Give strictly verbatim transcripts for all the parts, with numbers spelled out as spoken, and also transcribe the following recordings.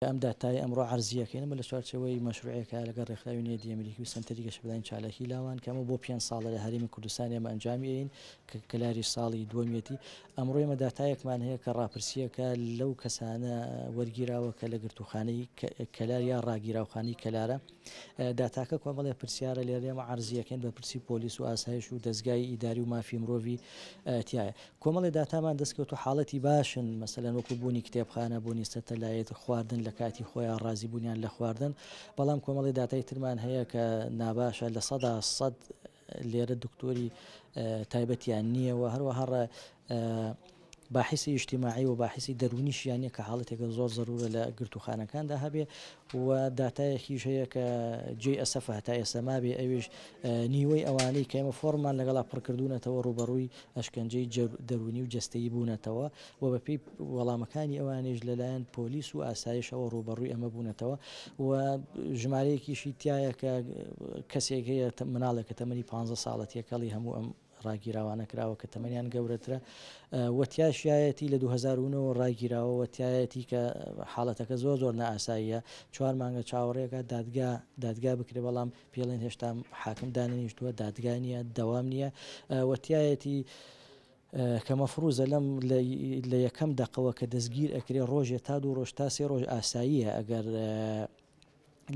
ئەم داتای ئەمڕۆ عەرزیەکەین ئەمە لە چوارچێوەی مەشروعێکە لەگەڵ ڕێکخراوی نێردی ئەمریکی و سەنتەری گەشەپێدانی چالاکی لاوان کە ئەمە بۆ پێنج ساڵە لە هەرێمی کوردستان ئێمە ئەنجامی ئەین کە کەلاری ساڵی دووەمیەتی. ئەمڕۆ ئێمە داتایەکمان هەیە کە ڕاپرسیەکە لەو کەسانە وەرگیراوە کە لە گرتوخانەی کەلار یا ڕاگیراوخانەی کەلارە. داتاکە کۆمەڵێ پرسیارە لێرە ئێمە عەرزیەکەین بە پرسی پۆلیس و ئاسایش و دەزگای ئیداری و مافی مرۆڤی تایە. کۆمەڵێ داتامان دەستکەوت و حاڵەتی باشن، مەسەلەن وەکو بوونی کتێبخانە، بوونی سەتەلایت، خواردن لە کاتی خۆیان، ڕازی بوونیان لە خواردن. بەڵام کۆمەڵی داتای ترمان هەیە کە ناباشە، لە سەدا سەد لێرە دکتۆری تایبەتیان نییە و هەروەها باحیسی ئیجتیماعی و باحیسی دەروونیشیان نییە کە حاڵەتێکە زۆر زەرورە لە گرتوخانەکاندا هەبێ. و داتایەکیش هەیە کە جێی ئەسەفە هەتا ئێستا مابێ، ئەویش نیوەی ئەوانەی کە ئێمە فۆرمان لەگەڵا پڕکردوونەتەوە ڕووبەڕووی ئەشکەنجەی دەروونی و جەستەیی بوونەتەوە و بەپێی وەڵامەکانی ئەوانیش لەلایەن پۆلیس و ئاسایشەوە ڕووبەڕووی ئەمە بوونەتەوە. و ژمارەیەکیشی تایە کە کەسێک هەیە مناڵێک کە تەمەنی پانزە ساڵە تێکەڵی هەموو ئەم ڕاگیراوانە کراوە کە تەمەنیان گەورەترە و تیاشیایەتی لە دوو هەزار و نۆ ڕاگیراوە و تایەتی کە حاڵەتەکە زۆر زۆر نائاساییە. چوار مانگە چاوەڕێکە دادگا دادگا بکرێ، بەڵام پێڵێن هێشتا حاکم دانەنیشتووە، دادگا نییە، دەوام نییە. و تایەتی کە مەفروزە لەم لە یەکەم دەقەوە کە دەستگیر ئەکرێ ڕۆژێ تا دوو ڕۆژ تا سێ ڕۆژ ئاساییە ئەگەر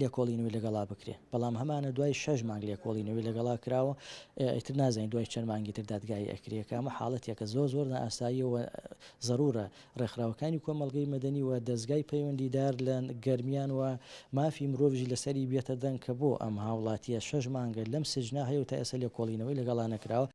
لێکۆڵینەوەی لەگەڵا بکرێ، بەڵام هەمانە دوای شەش مانگ لێکۆڵینەوەی لەگەڵا کراوە، ئیتر نازانین دوای چەند مانگی تر دادگایی ئەکرێ. کە ئەمە حاڵەتێکە زۆر زۆر نائاساییە و زەرورە ڕێکخراوەکانی کۆمەڵگەی مەدەنی و دەزگای پەیوەندیدار لە گەرمیان و مافی مرۆڤژی لەسەری بێتە دەنگ کە بۆ ئەم هاوڵاتیە شەش مانگە لەم سجنا هەیە و تا ئێستا لێکۆڵینەوەی لەگەڵا نەکراوە.